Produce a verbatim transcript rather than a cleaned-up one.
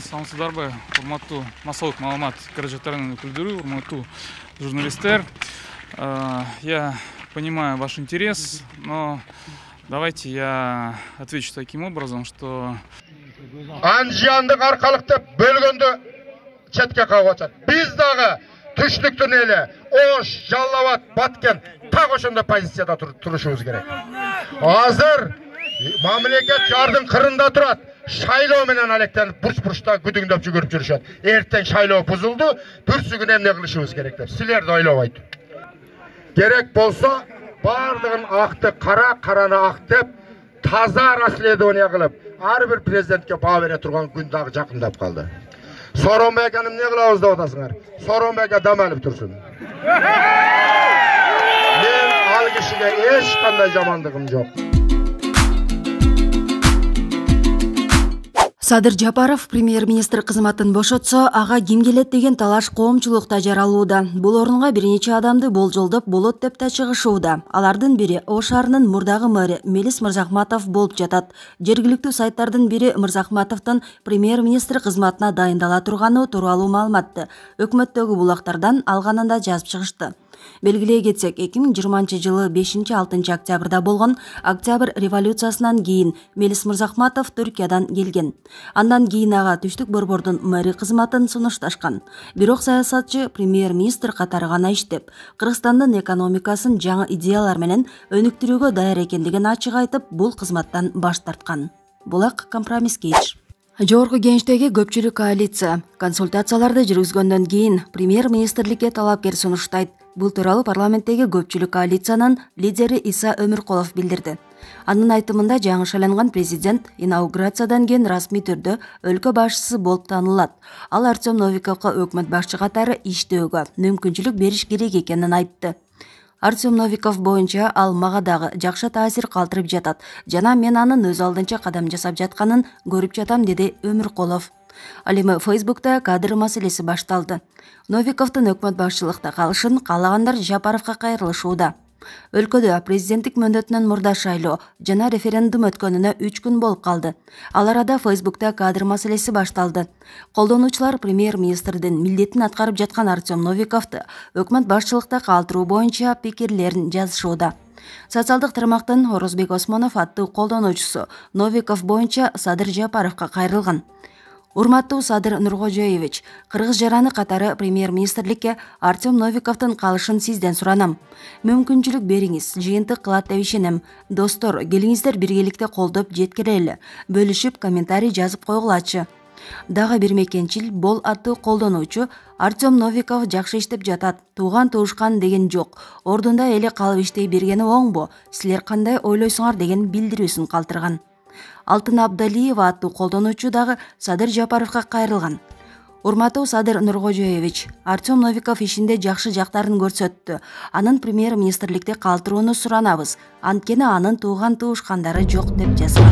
Саламатсыздарбы, урматтуу массалык маалымат каражаттарынын өкүлдөрү, урматтуу журналисттер. Я понимаю ваш интерес, но давайте я отвечу таким образом, что Анжиандык аркалыкты бөлгөндө четке кагып атат. Биз дагы түштүктүн эле Ош, Жалал Абад, Баткен так ошондой позицияда турушубуз керек. Азыр мамлекет жардын кырында турат. Шайлоо менен алектенип бурч-бурчта күдүңдөп жүгүрүп жүрүшөт. Эртең шайлоо бузулду, бүрсүгүн эмне кылышыбыз керек деп. Силерди ойлобойт. Керек болсо бардыгын акты кара, караны ак деп таза расследование кылып, ар бир президентке баа бере турган күн дагы жакындап калды. Сооронбай аканы эмне кылабыз деп атасыңар? Сооронбай ака дам алып турсун. Мен ал кишиге эч кандай жамандыгым жок. Садыр Жапаров премьер-министр кызматын бошотсо, ага ким келет деген талаш коомчулукта жаралууда. Бул орунга бир нече адамды болжолдоп болот деп да чыгышууда. Алардын бири Ош шаарынын мурдагы мэри Мелис Мырзахматов болуп жатат. Жергиликтүү сайттардын бири Мырзахматовдун премьер-министр кызматына дайындала турганы тууралуу маалыматты өкмөттөгү булактардан алганында жазып чыгышты. Белгилей кетсек, эки миң жыйырманчы жылы бешинчи алтынчы октябрда болгон Октябрь революциясынан кийин Мелис Мырзахматов Түркиядан келген. Андан кийин ага Түштүк Борбордун мэри кызматын сунушташкан. Бирок саясатчы премьер-министр катары гана иштеп, Кыргызстандын экономикасын жаңы идеялар менен өнүктүрүүгө даяр экендигин ачык айтып, бул кызматтан баш тарткан. Булак компромисске иш. Жогорку кеңештеги көпчүлүк коалиция консультацияларды жүргүзгөндөн кийин премьер-министрликке талапкер сунуштайт. Бул тууралуу парламенттеги көпчүлүк коалициянын лидери Иса Өмүркулов билдирди. Анын айтымында жаңы шайланган президент инаугурациядан кийин расмий түрдө өлкө башчысы болуп таанылат. Ал Артем Новиковго өкмөт башчы катары иштөөгө мүмкүнчүлүк бериш керек экенин айтты. Артем Новиков боюнча ал мага дагы жакшы таасир калтырып жатат жана мен анын өз алдынча кадам жасап жатканын көрүп жатам, деди Өмүркулов. Ал эми Фейсбукта кадр маселеси башталды. Новиковдун өкмөт башчылыкта калышын каалагандар Жапаровго кайрылышууда. Өлкөдө президенттик мөөнөтүнөн мурда шайлоо жана референдум өткөнүнө үч күн болуп калды. Ал арада Фейсбукта кадр маселеси башталды. Колдонуучулар премьер-министрдин милдетин аткарып жаткан Артем Новиковду өкмөт башчылыкта калтыруу боюнча пикирлерин жазышууда. Социалдык тармактын Орозбек Осмонов аттуу колдонуучусу Новиков боюнча Садыр Жапаровго кайрылган. Урматтуу Садыр Нуркожоевич, кыргыз жараны катары премьер-министрликке Артем Новиковдун калышын сизден суранам. Мүмкүнчүлүк бериңиз, жыйынтык кылат деп ишенем. Достор, келиңиздер биргеликте колдоп жеткирели, бөлүшүп комментарий жазып койгулачы. Дагы бир мекенчил бол аттуу колдонуучу Артем Новиков жакшы иштеп жатат, тууган туушкан деген жок. Ордунда эле калып иштей бергени оңбу? Силер кандай ойлойсуңар деген билдирүүсүн калтырган. Алтын Абдалиева аттуу колдонуучу дагы Садыр Жапаровго кайрылган. Урматтуу Садыр Нуркожоевич, Артем Новиков ишинде жакшы жактарын көрсөттү. Анын премьер-министрликте калтырууну суранабыз. Анткени анын тууган туушкандары жок деп жазган.